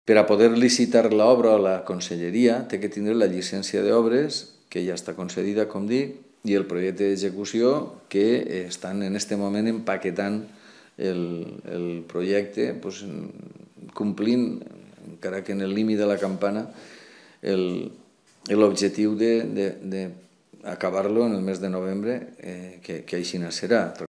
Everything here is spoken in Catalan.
Per a poder licitar l'obra a la conselleria té que tindre la llicència d'obres, que ja està concedida, com dic, i el projecte d'execució, que estan en aquest moment empaquetant el projecte, complint, encara que en el límit de la campana, l'objectiu d'acabar-lo en el mes de novembre, que així serà.